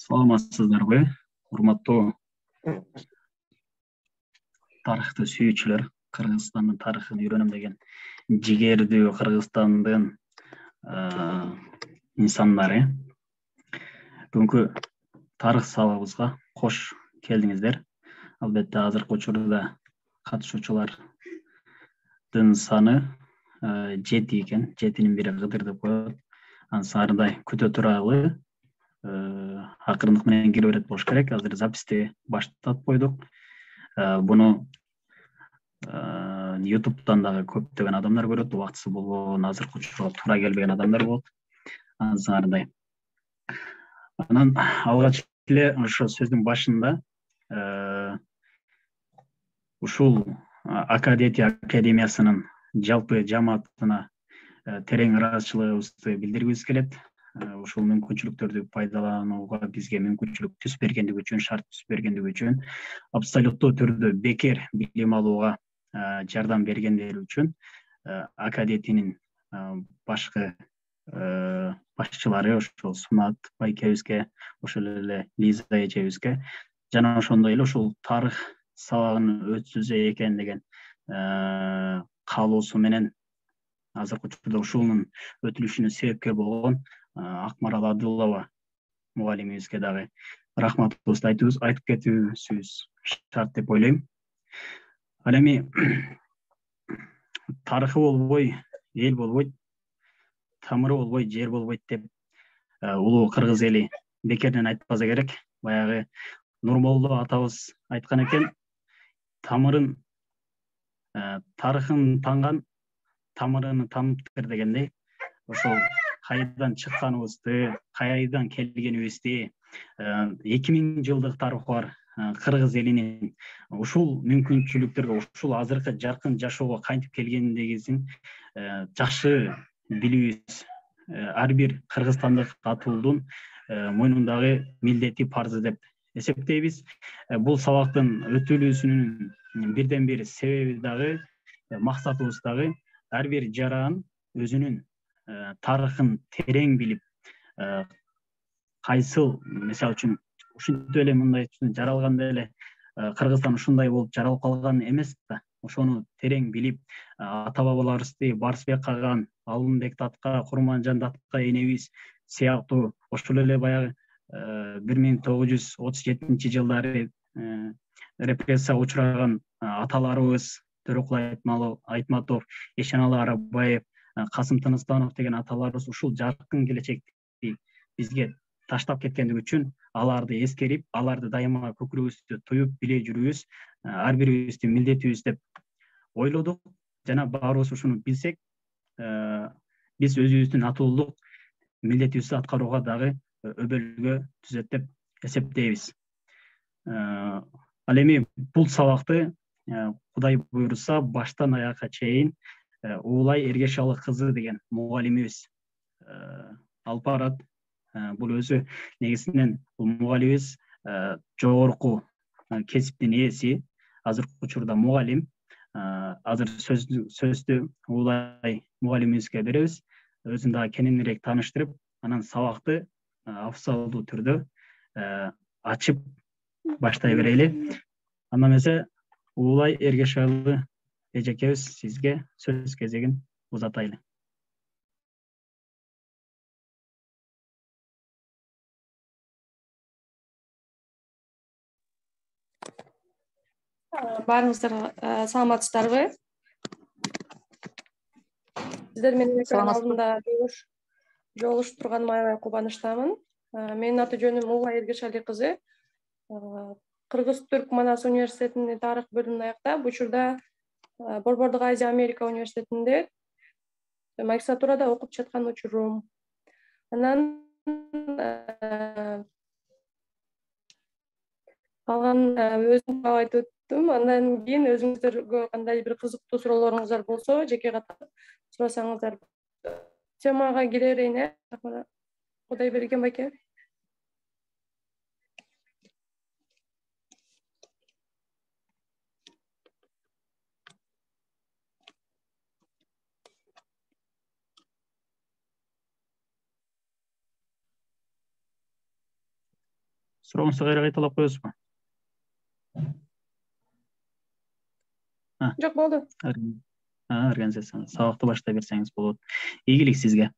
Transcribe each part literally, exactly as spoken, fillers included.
Саламатсыздарбы, урматтуу тарыхты сүйүүчүлөр, Кыргызстандын тарыхын үйрөнөм деген жигердүү Кыргызстандын инсандары. Бүгүнкү тарых сабагыбызга кош келдиңиздер. Албетте азыркы учурда катышуучулардын саны жети экен, жетинин бири Кыдыр деп коет. Анан саардай күтө туралы акырындык менен кире берет болуш керек. Азыр записти баштап койдук. Буну ютубтан дагы көптөгөн адамдар көрөт, убактысы болбогон, азыркы учурга туура келбеген адамдар болот. Анан саардай. Анан алгач эле ошо сөздүн башында ушул Акадети академиясынын жалпы жамаатына терең ыраазычылыгыбызды билдиргибиз келет. Ушул мүмкүнчүлүктөрдү пайдаланууга бизге мүмкүнчүлүк түз бергендиги үчүн, шарт түз бергендиги үчүн, абсолюттуу түрдө бекер билим алууга жардам бергендери үчүн Акадетинин башкы башчылары ошол Сунат байкебизге, ошол эле Лиза эжебизге жана ошондой эле ушул тарых сабагын өткүзө экен деген каалоосу менен азыркы учурда ушунун өтүлүшүнө себепкер болгон Акмарал Адылова мугалимибизге дагы рахматыбызды айтып кетүүбүз шарт деп ойлойм. Ал эми тарыхы болбой эл болбойт, тамыры болбой жер болбойт деп улуу кыргыз эли бекерден айтпаса керек. Баягы Нурмолдо атабыз айткан экен, тамырын тарыхын танган тамырын таныптыр дегендей. Ошол кайдан чыкканыбызды, кайдан келгенибизди, эки миң жылдык тарыхы бар кыргыз элинин ушул мүмкүнчүлүктөргө, ушул азыркы жаркын жашоого кантип келгендигин жакшы билүүбүз ар бир кыргызстандык атуулдун мойнундагы милдети, парзы деп эсептейбиз. Бул сабактын өтүлүүсүнүн бирден бир себеби дагы, максатыбыз дагы ар бир жаран өзүнүн тарыхын терең билип, кайсыл, мисалы үчүн ушинтип эле мындай жаралганда эле Кыргызстан ушундай болуп жаралып калган эмес да. Ошону терең билип, ата бабаларыбызды Барсбек Каган, Алымбек Татка, Курманжан Татка энебиз сыяктуу ошол эле баягы бир миң тогуз жүз отуз жетинчи жылдары репрессияга учураган аталарыбыз Төрөкул Айтматов, Эшеналы Арабаев, Касым Тыныстанов деген аталарыбыз ушул жаркын келечекти бизге таштап кеткендиги үчүн аларды эскерип, аларды дайыма көкүрөгүбүздө туюп биле жүрүүбүз ар бирибиздин милдетибиз деп ойлодук. Жана баарыбыз ушуну билсек, биз өзүбүздүн атуулдук милдетибизди аткарууга дагы өбөлгө түзөт деп эсептейбиз. Ал эми бул сабакты Кудай буйруса баштан аякка чейин Уулай Эргешалы кызы деген мугалимибиз алып барат. Бул өзү негизинен бул мугалимибиз жогорку кесиптин ээси, азыркы учурда мугалим. Азыр сөздү Уулай мугалимибизге беребиз. Өзүн дагы кененирээк тааныштырып, анан сабакты абсалдуу түрдө ачып баштай берели. Анда эмесе Уулай Эргешалы эжекебиз, сизге сөз кезегин узатайлы. Баарыңыздар саламатсыздарбы? Сиздер менен экран алдында жолугушуп турганыма аябай кубанычтамын. Менин аты жөнүм Уулай Эргешали кызы. Кыргыз-Түрк Манас университетинин тарых бөлүмүн аяктап, учурда Борбордук Азия Америка университетинде магистратурада окуп жаткан учурум. Анан калган өзүм айтып өттүм. Андан кийин өзүңүздөргө кандай бир кызыктуу суроолоруңуздар болсо, жеке катып сурасаңыздар. Темага кире берейин, э? Кудайберген байке. Суроогуңузду кайра кайталап коесузбу? Жок, болду. Организацияны сабакты баштай берсеңиз болот. Ийгилик сизге.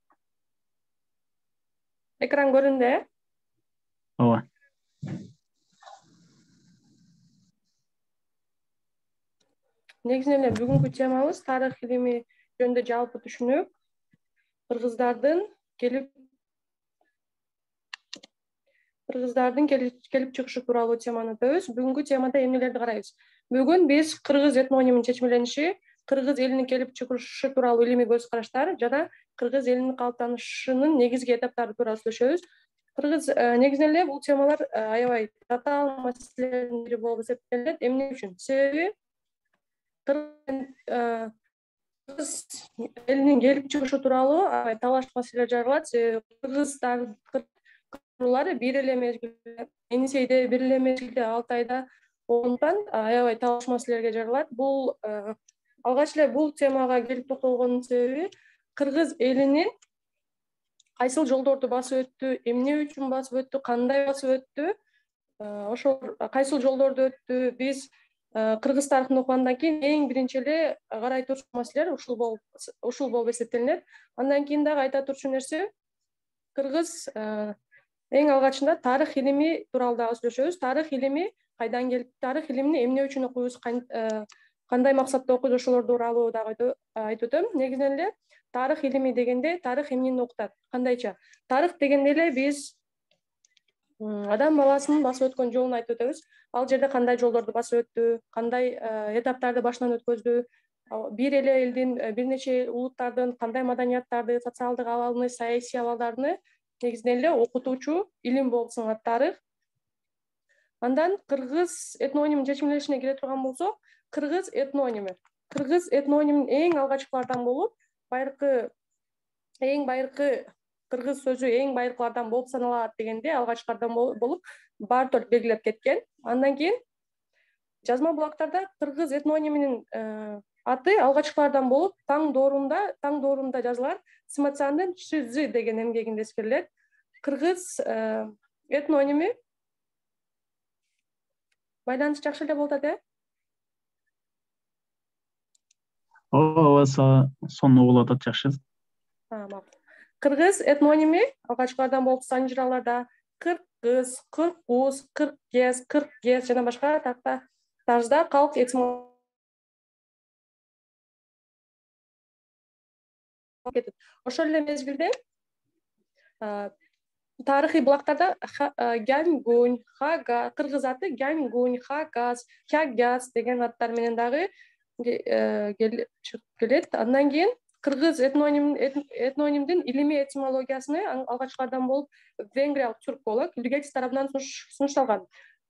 Экран көрүндү, э? Ооба. Негизинен эле бүгүнкү темабыз тарых илими жөнүндө жалпы түшүнүк. Кыргыздардын келип Кыргыздардын келип чыгышы тууралуу теманы өтөбүз. Бүгүнкү темада эмнелерди карайбыз? Бүгүн биз кыргыз этнонимин чечмелениши, кыргыз элинин келип чыгышы тууралуу илимий көз караштар жана кыргыз элинин калыптанышынын негизги этаптары тууралуу сүйлөшөбүз. Кыргыз негизинен эле бул темалар аябай татаал маселелердин бири болуп эсептелет. Эмне үчүн? Себеби кыргыз элинин келип чыгышы тууралуу аябай талаш маселелер жаралат. Себеби кыргыздар бир эле мезгилде Энисейде, бир эле мезгилде Алтайда болгондуктан аябай талаш маселелерге жаралат. Бул алгач эле бул темага келип токтолгондун себеби кыргыз элинин кайсыл жолдорду басып өттү, эмне үчүн басып өттү, кандай басып өттү, ошол кайсыл жолдорду өттү. Биз кыргыз тарыхын окугандан кийин эң биринчи эле карай турчу маселелер ушул болуп ушул болуп эсептелинет. Андан кийин дагы айта турчу нерсе, кыргыз эң алгачында тарых илими тууралуу дагы сүйлөшөбүз. Тарых илими кайдан келип, тарых илимини эмне үчүн окуйбуз, кандай максатта окуйбуз, ошолор тууралуу дагы айтып өтөм. Негизинен эле тарых илими дегенде тарых эмнени окутат, кандайча? Тарых дегенде эле биз адам баласынын басып өткөн жолун айтып өтөбүз. Ал жерде кандай жолдорду басып өттү, кандай этаптарды башынан өткөздү, бир эле элдин, бир нече улуттардын кандай маданияттарды, социалдык абалыны, саясий абалдарды негизинен эле окутуучу илим болуп саналат тарых. Андан кыргыз этнонимин чечмеленишине келе турган болсок, кыргыз этноними. Кыргыз этнонимин эң алгачкылардан болуп, байыркы эң байыркы кыргыз сөзү эң байыркылардан болуп саналат дегенде алгачкылардан болуп Бартолд белгилеп кеткен. Андан кийин жазма булактарда кыргыз этнониминин аты алгачкылардан болуп таң доорунда, таң доорунда жазылган Сматсандын Чжы деген эмгегинде эскерилет. Кыргыз этноними байланыш жакшы эле болуп атат, э? Ооба, сонун угулуп атат, жакшы. Кыргыз этноними алгачкылардан болуп санжыраларда кыргыз, кыргуз, кыргез, кыргез жана башка тарзда калк этимологиясы кетет. Ошол эле мезгилде тарыхый булактарда Гянгунь, Хага, кыргыз аты Гянгунь, Хагас, Хягас деген аттар менен дагы чыгып келет. Андан кийин кыргыз этнонимдин илимий этимологиясыны алгачкылардан болуп венгриялык түрколог Лигетис тарабынан сунушталган.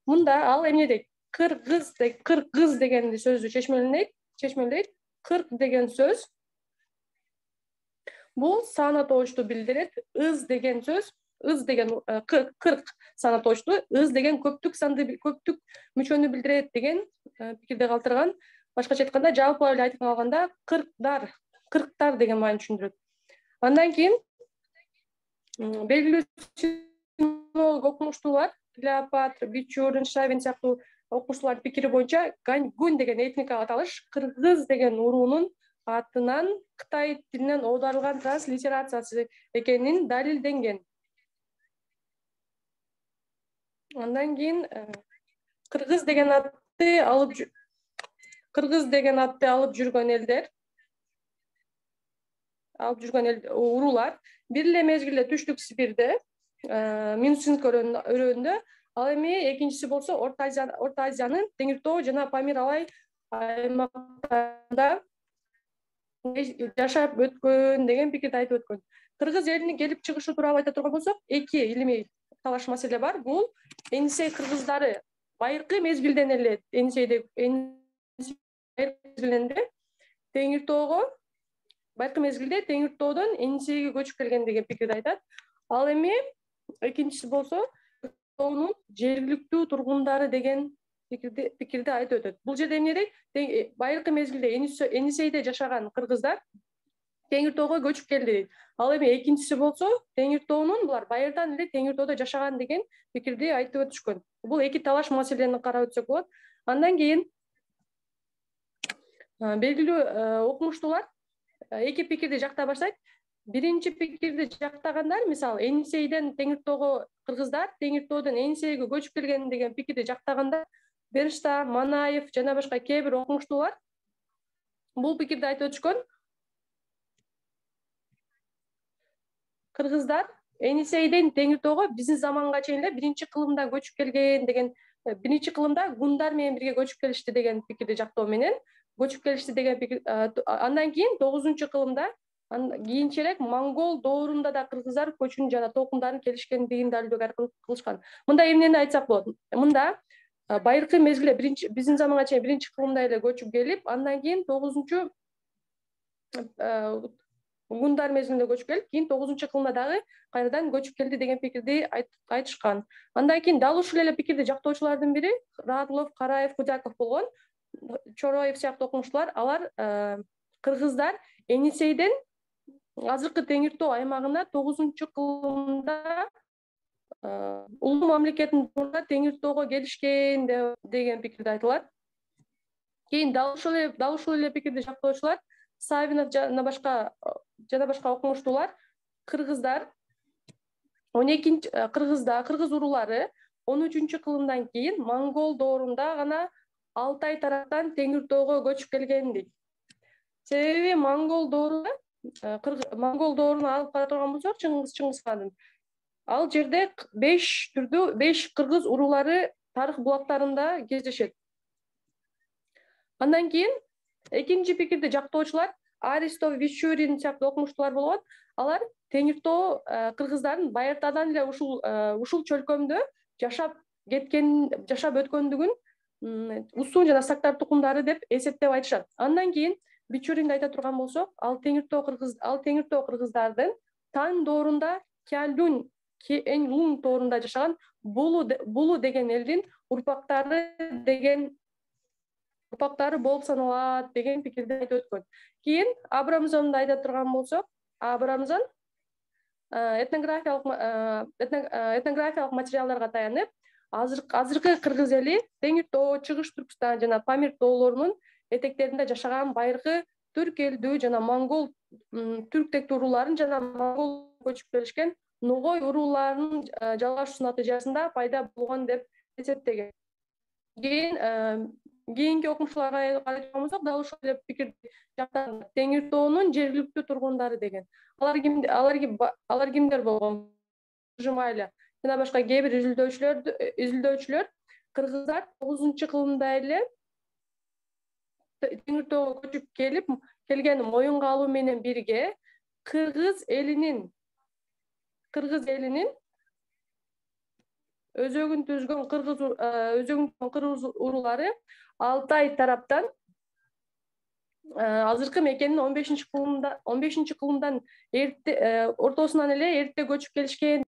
Мында ал эмне дейт? Кыргыз кыргыз деген сөздү чечмелейт, чечмелейт. Кырк деген сөз бул саны тоочту билдирет. Ыз деген сөз, ыз деген кырк саны тоочту, ыз деген көптүк санды, көптүк мүчөнү билдирет деген пикирде калтырган. Башкача айтканда, жалпылап эле айтып калганда, кырктар, кырктар деген маани түшүндүрөт. Андан кийин белгилүү синолог окумуштуулар Клеопатра, Бичурин, Шавин сыяктуу окумуштуулардын пикири боюнча Гяньгунь деген этникалык аталыш кыргыз деген уруунун атынан Кытай тилинен оодарылган транслитерациясы экенин далилденген. Андан кийин кыргыз деген атты алып кыргыз деген атты алып жүргөн элдер, алып жүргөн эл уруулар бир эле мезгилде Түштүк Сибирде, Минусинск өрөөнүндө, ал эми экинчиси болсо Орто Азия, Орто Азиянын Теңиртоо жана Памир алай аймактарында жашап өткөн деген пикирди айтып өткөн. Кыргыз элинин келип чыгышы тууралуу айта турган болсок, эки илимий талаш маселе бар. Бул Энисей кыргыздары байыркы мезгилден эле Энисейде мезгилинде Теңиртоого байыркы мезгилде Теңиртоодон Энисейге көчүп келген деген пикирди айтат. Ал эми экинчиси болсо Теңиртоонун жергиликтүү тургундары деген пикирди пикирди айтып өтөт. Бул жерде эмне дейт? Байыркы мезгилде Энисейде жашаган кыргыздар Теңир тоого көчүп келди дейт. Ал эми экинчиси болсо Теңир тоонун булар байырдан эле Теңир тоодо жашаган деген пикирди айтып өтүшкөн. Бул эки талаш маселени карап өтсөк болот. Андан кийин белгилүү окумуштуулар эки пикирди жактай баштайт. Биринчи пикирди жактагандар, мисалы, Энисейден Теңир тоого кыргыздар, Теңир тоодон Энисейге көчүп келген деген пикирди жактагандар, Беришта, Манаев жана башка кээ бир окумуштуулар бул пикирди айтып өтүшкөн. Кыргыздар Энисейден Теңир тоого биздин заманга чейин эле биринчи кылымда көчүп келген деген, биринчи кылымда гундар менен бирге көчүп келишти деген пикирди жактоо менен көчүп келишти деген пикир. Андан кийин тогузунчу кылымда кийинчерээк монгол доорунда да кыргыздар көчүн жана толкундарын келишкендигин далилдөөгө кылышкан. Мында эмнени айтсак болот? Мында байыркы мезгилде биринчи биздин заманга чейин биринчи кылымда эле көчүп келип, андан кийин тогузунчу гундар мезгилинде көчүп келип, кийин тогузунчу кылымда дагы кайрадан көчүп келди деген пикирди айтышкан. Андан кийин дал ушул эле пикирди жактоочулардын бири Радлов, Караев, Кудяков болгон. Чороев сыяктуу окумуштуулар, алар кыргыздар Энисейден азыркы Теңир тоо аймагына тогузунчу кылымда улуу мамлекеттин турунда Теңир тоого келишкен деген пикирди айтылат. Кийин дал ушул эле дал ушул эле пикирди жактоочулар Савинов жана башка жана башка окумуштуулар кыргыздар он экинчи кыргызда кыргыз уруулары он үчүнчү кылымдан кийин монгол доорунда гана Алтай тараптан Теңир тоого көчүп келген дейт. Себеби монгол доорунда монгол дооруна алып кара турган болсок, Чыңгыз Чыңгызхандын ал жерде беш түрдүү беш кыргыз уруулары тарых булактарында кездешет. Андан кийин экинчи пикирди жактоочулар Аристов, Вичурин сыяктуу окумуштуулар болгон. Алар Теңир тоо кыргыздардын байыртадан эле ушул ушул чөлкөмдө жашап кеткен, жашап өткөндүгүн Усун жана Сактар тукумдары деп эсептеп айтышат. Андан кийин Бичуринди айта турган болсок, ал Теңир тоо кыргыз ал Теңир тоо кыргыздардын Тан доорунда Кялюн, Энлун тоорунда жашаган Булу Булу деген элдин урпактары деген урпактары болуп саналат деген пикирди айтып өткөн. Кийин Абрамзонду айта турган болсок, Абрамзон этнографиялык этнографиялык материалдарга таянып, азыркы кыргыз эли Теңир тоо, Чыгыш Түркстан жана Памир тоолорунун этектеринде жашаган байыркы түрк элдүү жана монгол түрктек урууларын жана монгол көчүп келишкен Ногой урууларынын жалгашуусу натыйжасында пайда болгон деп эсептеген. Кийин кийинки окумуштууларга карайт болсок, дал ушул эле пикирди жактаган Теңир тоонун жергиликтүү тургундары деген. Алар ким алар алар кимдер болгон? Жумайла жана башка кээ бир изилдөөчүлөр изилдөөчүлөр кыргыздар тогузунчу кылымда эле Теңир тоого көчүп келип, келгени моюнга алуу менен бирге кыргыз элинин кыргыз элинин өзөгүн түзгөн кыргыз өзөгүн кыргыз уруулары Алтай тараптан азыркы мекенин он бешинчи кылымда он бешинчи кылымдан эрте ортосунан эле эрте көчүп келишкен.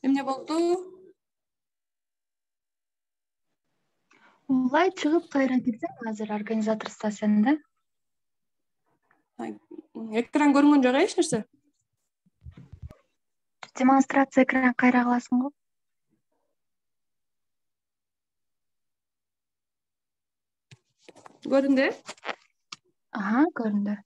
Эмне болду? Улай чыгып кайра кирсең, азыр организатор стасиян да. Экран көрүнгөн жок, эч нерсе. Демонстрация экран кайра кыласың го. Көрүндү? Ага, көрүндү.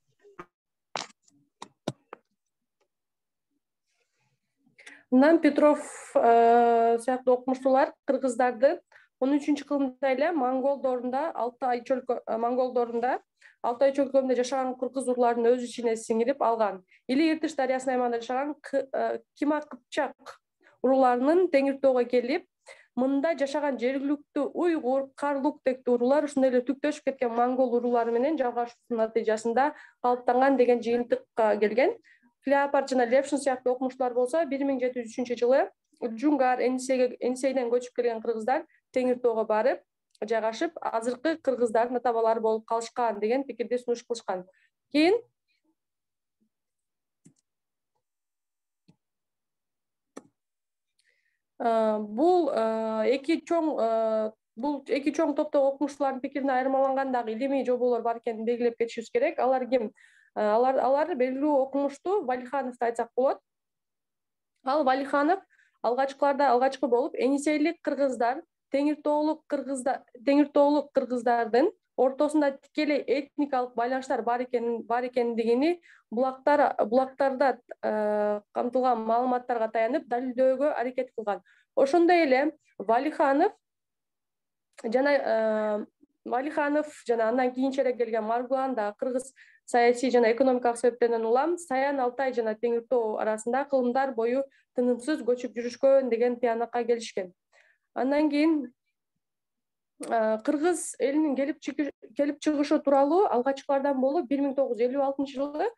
Мындан Петров сыяктуу окумуштуулар кыргыздарды он үчүнчү кылымда эле монгол доорунда Алтай чөлкө монгол доорунда Алтай чөлкөмүндө жашаган кыргыз урууларын өз ичине сиңирип алган. Или Иртыш дарыясынын аймагында жашаган Кима Кыпчак урууларынын Теңир тоого келип, мында жашаган жергиликтүү уйгур, карлук тектүү уруулар ушундай эле түктөшүп кеткен монгол уруулары менен жалгашуусунун натыйжасында калыптанган деген жыйынтыкка келген. Клеопат жана Левшин сыяктуу окумуштуулар болсо бир миң жети жүз үчүнчү жылы Джунгар Энисейден көчүп келген кыргыздар Теңир тоого барып жайгашып, азыркы кыргыздардын ата бабалары болуп калышкан деген пикирди сунуш кылышкан. Кийин бул эки чоң бул эки чоң топтогу окумуштуулардын пикирине айырмаланган дагы илимий жоболор бар экенин белгилеп кетишибиз керек. Алар ким? Алар алар белгилүү окумуштуу Валихановду айтсак болот. Ал Валиханов алгачкыларда алгачкы болуп, Энисейлик кыргыздар, Теңиртоолук кыргыздар, Теңиртоолук кыргыздардын ортосунда тикелей этникалык байланыштар бар экенин бар экендигини булактар булактарда камтылган маалыматтарга таянып далилдөөгө аракет кылган. Ошондой эле Валиханов жана Валиханов жана андан кийинчерээк келген Маргулан да кыргыз саясий жана экономикалык себептерден улам Саян, Алтай жана Теңиртоо арасында кылымдар бою тынымсыз көчүп жүрүшкөн деген тыянакка келишкен. Андан кийин кыргыз элинин келип келип чыгышы тууралуу алгачкылардан болуп бир миң тогуз жүз элүү алтынчы жылы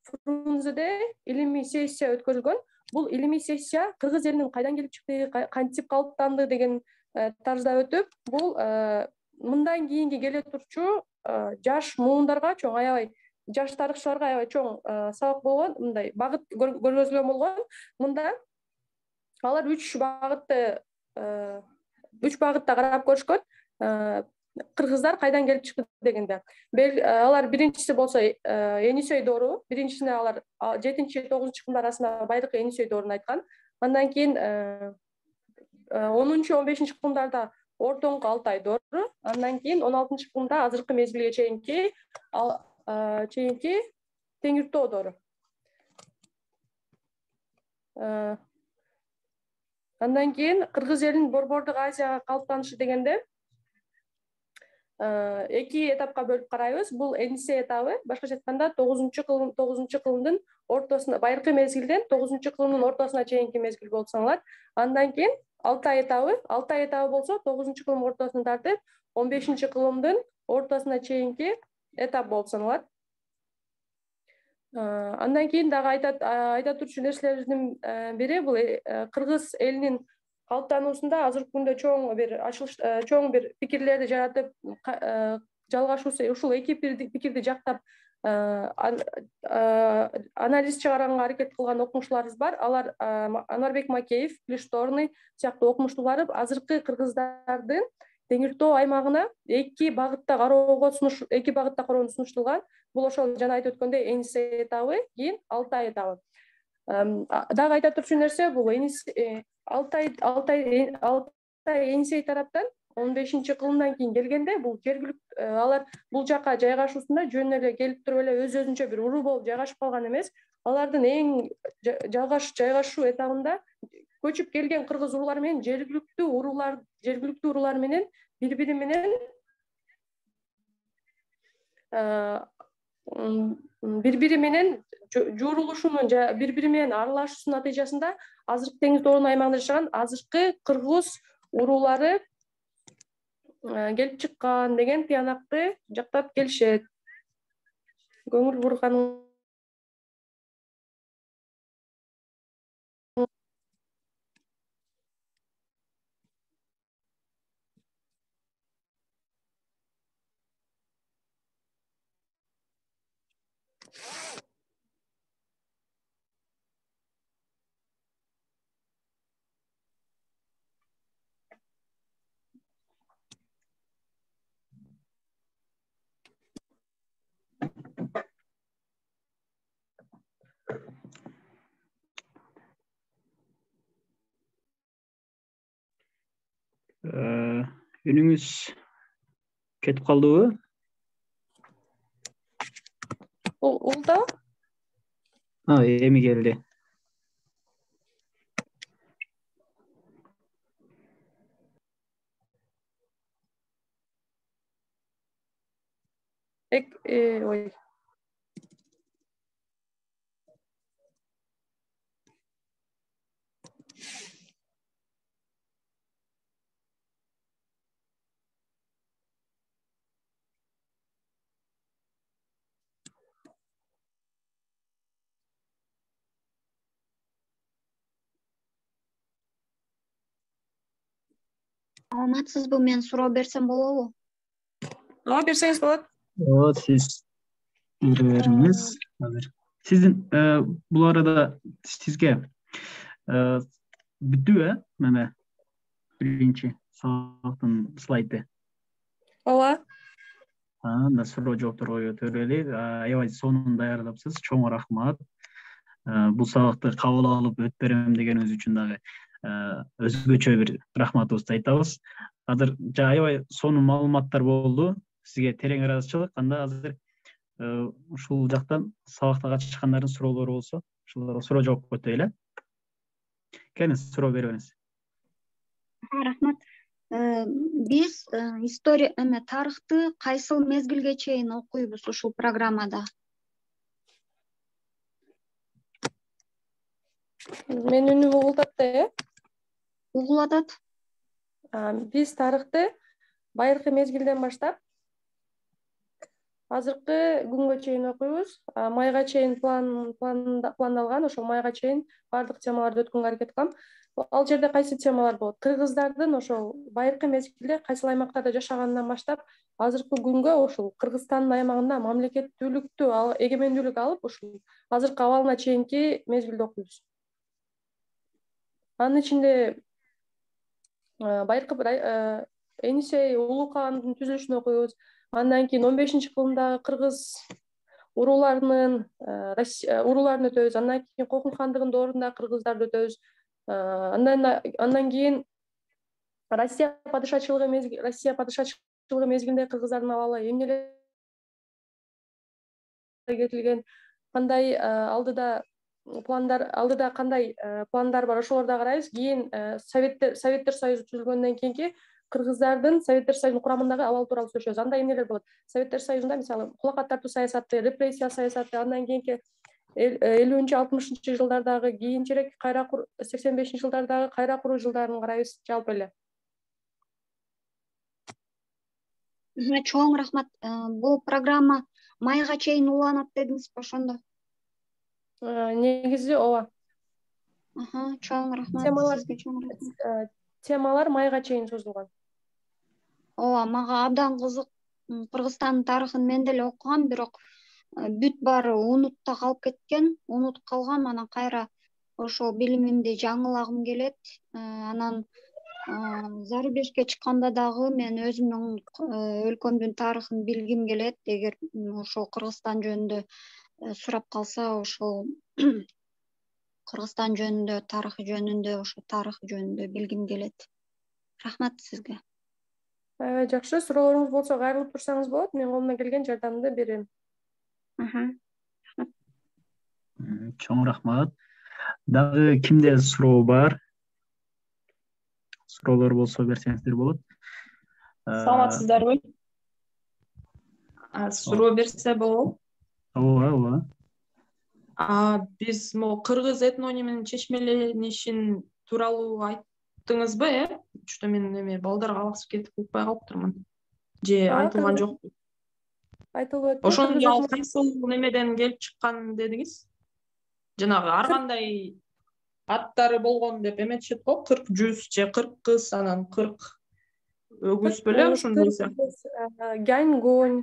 Фрунзеде илимий сессия өткөрүлгөн. Бул илимий сессия кыргыз элинин кайдан келип чыкты, кантип калыптанды деген тарзда өтүп, бул мындан кийинки келе турчу жаш муундарга чоң аябай жаш тарыхчыларга аябай чоң сабак болгон, мындай багыт көргөзүлгөн болгон. Мында алар үч багытты үч багытта карап көрүшкөн. Кыргыздар кайдан келип чыкты дегенде. Алар биринчиси болсо Энисей доору, биринчисине алар жетинчи тогузунчу кылымдар арасында байыркы Энисей дооруну айткан. Андан кийин онунчу он бешинчи кылымдарда ортоңку Алтай доору, андан кийин он алтынчы кылымда азыркы мезгилге чейинки чейинки Теңиртоо доору. Андан кийин кыргыз элинин Борбордук Азияга калыптанышы дегенде эки этапка бөлүп карайбыз. Бул Энисей этабы, башкача айтканда тогузунчу кылым тогузунчу кылымдын ортосуна, байыркы мезгилден тогузунчу кылымдын ортосуна чейинки мезгил болуп саналат. Андан кийин Алтай этабы, Алтай этабы болсо тогузунчу кылым ортосун тартып, он бешинчи кылымдын ортосуна чейинки этап болуп саналат. Андан кийин дагы айта айта турчу нерселерибиздин бири бул кыргыз элинин калыптануусунда азыркы күндө чоң бир ачылыш чоң бир пикирлерди жаратып, жалгашуусу ушул эки пикирди жактап анализ чыгарганга аракет кылган окумуштууларыбыз бар. Алар Анарбек Макеев, Плишторный сыяктуу окумуштуулар азыркы кыргыздардын Теңиртоо аймагына эки багытта кароого сунуш эки багытта кароону сунуштулган. Бул ошол жана айтып өткөндөй Энисей этабы, кийин Алтай этабы. Дагы айта турчу нерсе бул Алтай Алтай Алтай Энисей тараптан он бешинчи кылымдан кийин келгенде бул жергиликтүү алар бул жака жайгашуусунда жөн эле келип туруп эле өз өзүнчө бир уруу болуп жайгашып калган эмес. Алардын эң жайгашуу этабында көчүп келген кыргыз уруулары менен жергиликтүү уруулар жергиликтүү уруулар менен бири бири менен бири бири менен жуурулушунун же бири бири менен аралашуусунун натыйжасында азыркы Теңиртоонун аймагында жашаган азыркы кыргыз уруулары келип чыккан деген тыянакты жактап келишет. Көңүл бурганың үнүңүз кетип калдыбы? Улда? А, эми келди. Эк, ой. Саламатсызбы, мен суроо берсем болобу? Ооба, берсеңиз болот. Ооба, сиз бере бериңиз. Азыр сиздин бул арада сизге бүттүбү, э? Мына биринчи сабактын слайды. Ооба. Анда суроо жоопторго өтөлү. Аябай сонун даярдапсыз. Чоң рахмат. Бул сабакты кабыл алып өтүп берем дегениңиз үчүн дагы өзгөчө бир рахматыбызды айтабыз. Азыр аябай сонун маалыматтар болду. Сизге терең ыраазычылык. Анда азыр ушул жактан сабакта катышкандардын суроолору болсо, ушуларга суроо жоопко өтөйлү. Келиңиз, суроо берип бериңиз. Рахмат. Биз история эме тарыхты кайсыл мезгилге чейин окуйбуз ушул программада? Менин үнүм угулуп атты, э? Угулуп атат. Биз тарыхты байыркы мезгилден баштап азыркы күнгө чейин окуйбуз. Майга чейин план пландалган, ошол майга чейин бардык темаларды өткөнгө аракет кылам. Ал жерде кайсы темалар болот? Кыргыздардын ошол байыркы мезгилде кайсыл аймактарда жашаганынан баштап азыркы күнгө ошол Кыргызстандын аймагында мамлекеттүүлүктү, эгемендүүлүк алып, ушул азыркы абалына чейинки мезгилди окуйбуз. Анын ичинде байыркы Энисей улуу каандын түзүлүшүн окуйбуз. Андан кийин он бешинчи кылымдагы кыргыз урууларынын урууларын өтөбүз. Андан кийин Кокун хандыгынын доорундагы кыргыздарды өтөбүз. Андан андан кийин Россия падышачылыгы мезгил Россия падышачылыгы мезгилинде кыргыздардын абалы эмнелер кетилген, кандай алдыда пландар алдыда кандай пландар бар, ошолорду карайбыз. Кийин Советтер Советтер Союзу түзүлгөндөн кийинки кыргыздардын Советтер Союзунун курамындагы абалы тууралуу сүйлөшөбүз. Анда эмнелер болот? Советтер Союзунда мисалы кулакка тартуу саясаты, репрессия саясаты, андан кийинки элүүнчү алтымышынчы жылдардагы, кийинчерээк кайра сексен бешинчи жылдардагы кайра куруу жылдарын карайбыз жалпы эле. Чоң рахмат. Бул программа майга чейин уланат дедиңизби ошондо? Негизи ооба. Чоң рахмат. Сизге чоң рахмат. Темалар майга чейин созулган. Ооба, мага абдан кызык. Кыргызстандын тарыхын мен деле окугам, бирок бүт баары унутта калып кеткен, унутуп калгам. Анан кайра ошол билимимди жаңылагым келет. Анан зарубежге чыкканда дагы мен өзүмдүн өлкөмдүн тарыхын билгим келет. Эгер ошол Кыргызстан жөнүндө сурап калса, ошол Кыргызстан жөнүндө, тарыхы жөнүндө, ошо тарыхы жөнүндө билгим келет. Рахмат сизге. Аябай жакшы. Суроолоруңуз болсо кайрылып турсаңыз болот. Мен колумдан келген жардамды берем. Чоң рахмат. Дагы кимде суроо бар? Суроолор болсо берсеңиздер болот. Саламатсыздарбы? Суроо берсе болобу? Ооба, ооба. Биз могу кыргыз этнониминин чечмеленишин тууралуу айттыңызбы, э? Что мен эме балдарга алаксып кетип укпай калыптырмын. Же айтылган жокпу? Айтылып өттү. Ошондо ал кайсыл немеден келип чыккан дедиңиз? Жанагы ар кандай аттары болгон деп эметишет го, кырк жүз же кырк кыз, анан кырк өгүз беле ошондой эле. Гяньгунь,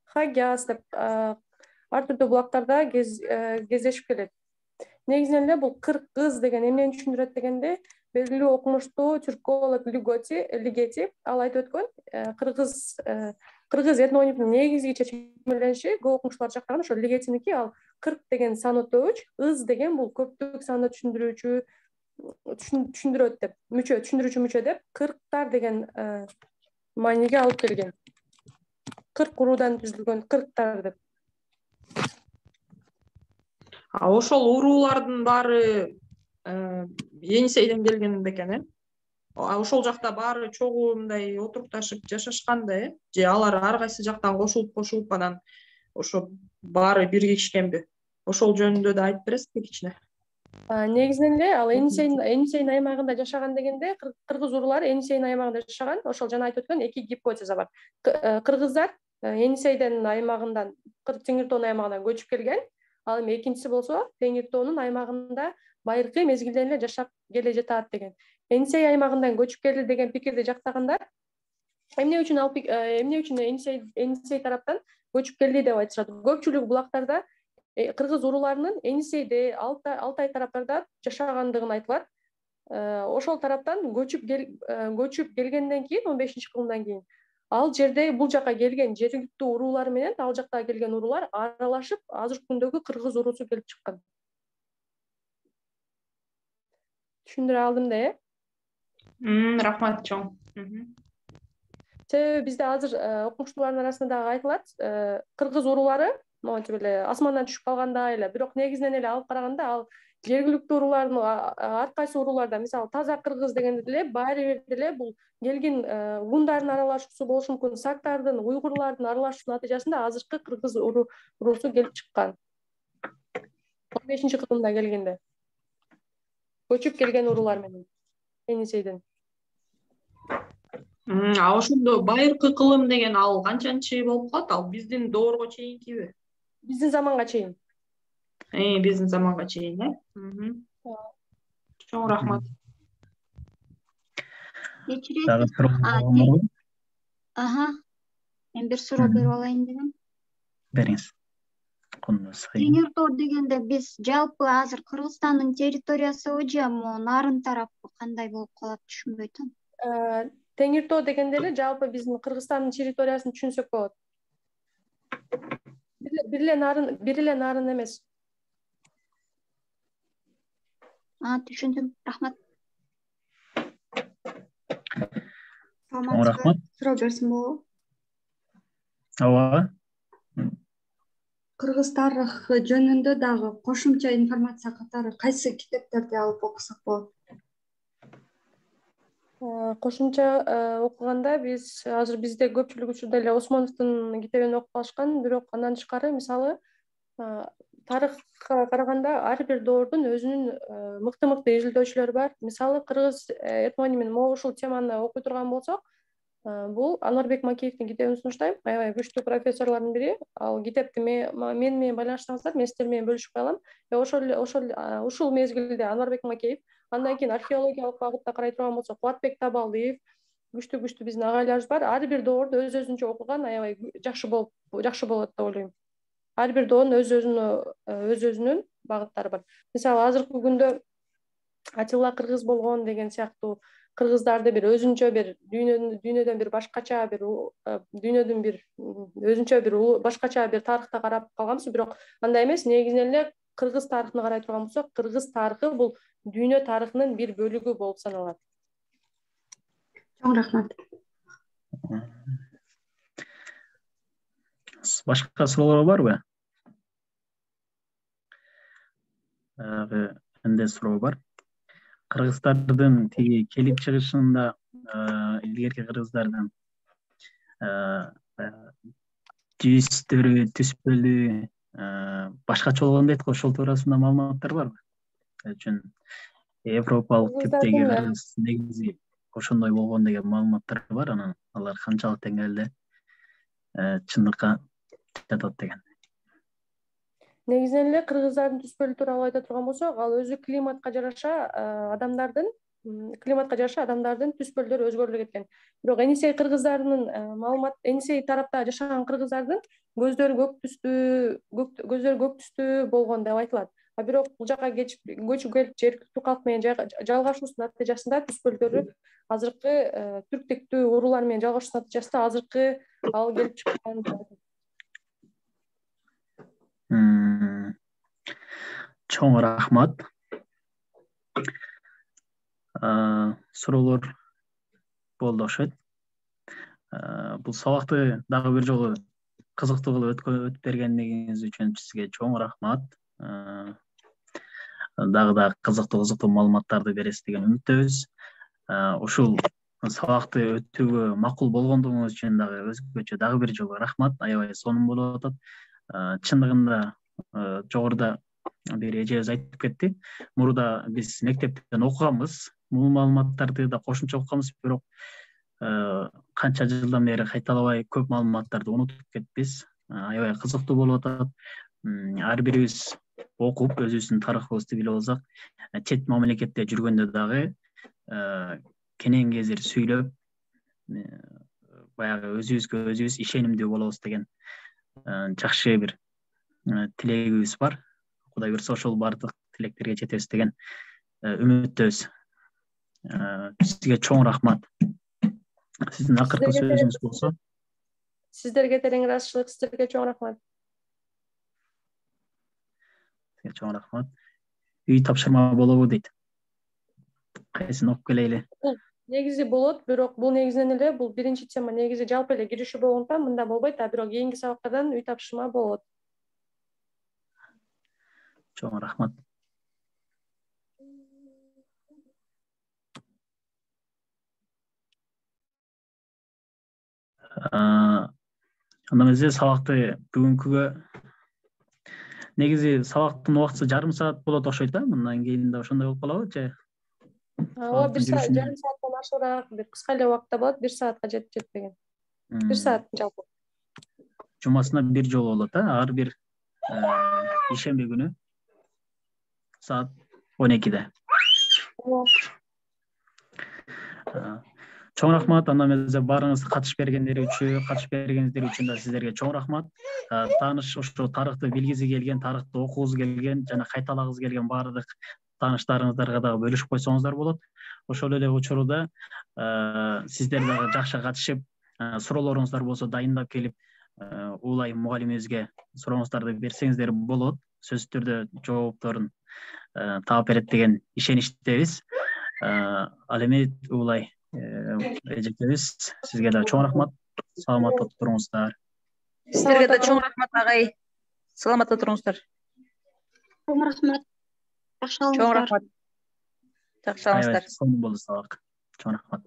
Хагяс деп ар түрдүү булактарда кездешип келет. Негизинен эле бул кырк кыз деген эмнени түшүндүрөт дегенде, белгилүү окумуштуу түрколог Лигети ал айтып өткөн, кыргыз кыргыз этнонимдин негизги чечмелениши көп окумуштуулар жактаган ошо Лигетиники, ал кырк деген сан өтөөч, ыз деген бул көптүк санды түшүндүрүүчү түшүндүрөт деп, мүчө түшүндүрүүчү мүчө деп кырктар деген мааниге алып келген. кырк уруудан түзүлгөн кырктар деп. Ошол уруулардын баары Енисейден келген бекен, э? Ошол жакта баары чогуу мындай отурукташып жашашкан да, э? Же алар ар кайсы жактан кошулуп кошулуп анан ошо баары биригишкенби? Ошол жөнүндө да айтып бересизби кичине? Негизинен эле ал Енисейдин Енисейдин аймагында жашаган дегенде, кыргыз уруулары Енисейдин аймагында жашаган. Ошол жана айтып өткөн эки гипотеза бар. Кыргыздар Енисейдин аймагынан, Теңиртоонун аймагынан көчүп келген. Ал эми экинчиси болсо Теңиртоонун аймагында байыркы мезгилден эле жашап келе жатат деген. Енисей аймагынан көчүп келди деген пикирди жактагандар эмне үчүн ал эмне үчүн Енисей Енисей тараптан көчүп келди деп айтышат. Көпчүлүк булактарда кыргыз урууларынын Енисейде, Алтай тараптарда жашагандыгын айтылат. ошол тараптан көчүп көчүп келгенден кийин он бешинчи кылымдан кийин ал жерде бул жака келген жергиликтүү уруулар менен ал жактагы келген уруулар аралашып азыркы күндөгү кыргыз уруусу келип чыккан. Түшүндүрө алдым да, э? Рахмат чоң. Себеби бизде азыр окумуштуулардын арасында дагы айтылат, кыргыз уруулары монтип эле асмандан түшүп калгандай эле, бирок негизинен эле алып караганда ал жергиликтүү уруулардын ар кайсы урууларда, мисалы таза кыргыз дегенде деле баары бир деле бул келген гундардын аралашуусу болушу мүмкүн, сактардын, уйгурлардын аралашуусунун натыйжасында азыркы кыргыз уруусу келип чыккан. он бешинчи кылымда келгенде көчүп келген уруулар менен Енисейден. А ошондо байыркы кылым деген ал канчанчы болуп калат? Ал биздин доорго чейинкиби? Биздин заманга чейин. Э, биздин заманга чейин, э? Чоң рахмат. Кечиресиз. Ага. Мен бир суроо берип алайын дегем. Бериңиз. Теңир тоо дегенде биз жалпы азыр Кыргызстандын территориясыбы же могу нарын тарапы кандай болуп калат түшүнбөй атам. Теңир тоо дегенде эле жалпы биздин Кыргызстандын территориясын түшүнсөк болот. Бир эле нарын, бир эле нарын эмес. А, түшүндүм. Рахмат. Рахмат. Суроо берсем болобу? Ооба. Кыргыз тарыхы жөнүндө дагы кошумча информация катары кайсы китептерди алып окусак болот? Кошумча окуганда биз азыр бизде көпчүлүк учурда эле Осмоновдун китебин окуп калышкан, бирок андан тышкары мисалы тарыхка караганда ар бир доордун өзүнүн мыкты-мыкты изилдөөчүлөрү бар. Мисалы кыргыз этнонимин могу ушул теманы окуй турган болсок, бул Анварбек Макеевдин китебин сунуштайм. Аябай күчтүү профессорлордун бири. Ал китепти мен менен байланыштырсаңыздар, мен сиздер менен бөлүшүп калам. Ошол ошол ушул мезгилде Анварбек Макеев, андан кийин археологиялык багытта карай турган болсок, Кубатбек Табалдиев, күчтүү-күчтүү биздин агайларыбыз бар. Ар бир доорду өз өзүнчө окуган аябай жакшы болуп жакшы болот деп ойлойм. Ар бир доонун өз өзүнө өз өзүнүн багыттары бар. Мисалы азыркы күндө Атилла кыргыз болгон деген сыяктуу кыргыздарды бир өзүнчө бир дүйнөдөн дүйнөдөн бир башкача бир дүйнөдүн бир өзүнчө бир башкача бир тарыхта карап калганбыз, бирок андай эмес. Негизинен эле кыргыз тарыхына карай турган болсок, кыргыз тарыхы бул дүйнө тарыхынын бир бөлүгү болуп саналат. Чоң рахмат. Башка суроолор барбы? Менде суроо бар. Кыргыздардын тиги келип чыгышында илгерки кыргыздардын жүзтөрү, түспөлү башкача болгон дейт го, ошол туурасында маалыматтар барбы? Үчүн европалык типтеги кыргыз негизи ошондой болгон деген маалыматтар бар, анан алар канчалык деңгээлде чындыкка жатат деген. Негизинен эле кыргыздардын түспөлү тууралуу айта турган болсок, ал өзү климатка жараша адамдардын климатка жараша адамдардын түспөлдөрү өзгөрүлүп кеткен. Бирок Енисей кыргыздарынын маалымат, Енисей тарапта жашаган кыргыздардын көздөрү көк түстүү, көздөрү көк түстүү болгон деп айтылат. А бирок бул жака көчүп келип жергиликтүү калк менен жалгашуусунун натыйжасында түспөлдөрү азыркы түрк тектүү уруулар менен жалгашуусунун натыйжасында азыркы ал келип чыккан. Чоң рахмат. Суроолор болду окшойт. Бул сабакты дагы бир жолу кызыктуу кылып өтүп бергениңиз үчүн сизге чоң рахмат. Дагы да кызыктуу кызыктуу маалыматтарды бересиз деген үмүттөбүз. Ушул сабакты өтүүгө макул болгондугуңуз үчүн дагы өзгөчө дагы бир жолу рахмат. Аябай сонун болуп атат. Чындыгында жогоруда бир эжебиз айтып кетти. Мурда биз мектептен окуганбыз, бул маалыматтарды да кошумча окуганбыз, бирок канча жылдан бери кайталабай көп маалыматтарды унутуп кетпиз. Аябай кызыктуу болуп атат. Ар бирибиз окуп, өзүбүздүн тарыхыбызды билип алсак, чет мамлекетте жүргөндө дагы кенен кезир сүйлөп, баягы өзүбүзгө өзүбүз ишенимдүү болобуз деген жакшы бир тилегибиз бар. Кудай буйрса ошол бардык тилектерге жетебиз деген үмүттөбүз. Сизге чоң рахмат. Сиздин акыркы сөзүңүз болсо. Сиздерге терең ыраазычылык, сиздерге чоң рахмат. Сизге чоң рахмат. Үй тапшырма болобу дейт. Кайсын окуп келейли. Негизи болот, бирок бул негизинен эле бул биринчи тема, негизи жалпы эле киришүү болгондуктан мында болбойт, а бирок кийинки сабактардан үй тапшырма болот. Чоң рахмат. Анда эмесе сабакты бүгүнкүгө негизи сабактын убактысы жарым саат болот окшойт да, мындан кийин да ошондой болуп калабы же? Ооба, бир саат, жарым сааттан ашыгыраак, бир кыска эле убакытта болот, бир саатка жетип жетпеген. Бир саат жалпы. Жумасына бир жолу болот, а ар бир ишемби күнү саат он экиде. Чоң рахмат, анда эмесе баарыңыз катышып бергендер үчүн, катышып бергениңиздер үчүн да сиздерге чоң рахмат. Тааныш ошо тарыхты билгиси келген, тарыхты окугуңуз келген жана кайталагыңыз келген баардык тааныштарыңыздарга дагы бөлүшүп койсоңуздар болот. Ошол эле учурда сиздер дагы жакшы катышып, суроолоруңуздар болсо дайындап келип, Уулай мугалимибизге сурооңуздарды берсеңиздер болот. Сөзсүз түрдө жоопторун таап берет деген ишеничтебиз. Ал эми Уулай эжекебиз, сизге да чоң рахмат. Саламатта туруңуздар. Сиздерге да чоң рахмат агай. Саламатта туруңуздар. Чоң рахмат. Жакшы Чоң алыңыздар. рахмат. Жакшы алыңыздар. Сонун болду сабак. Чоң рахмат.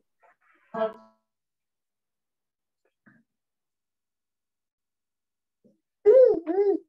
Mm-hmm.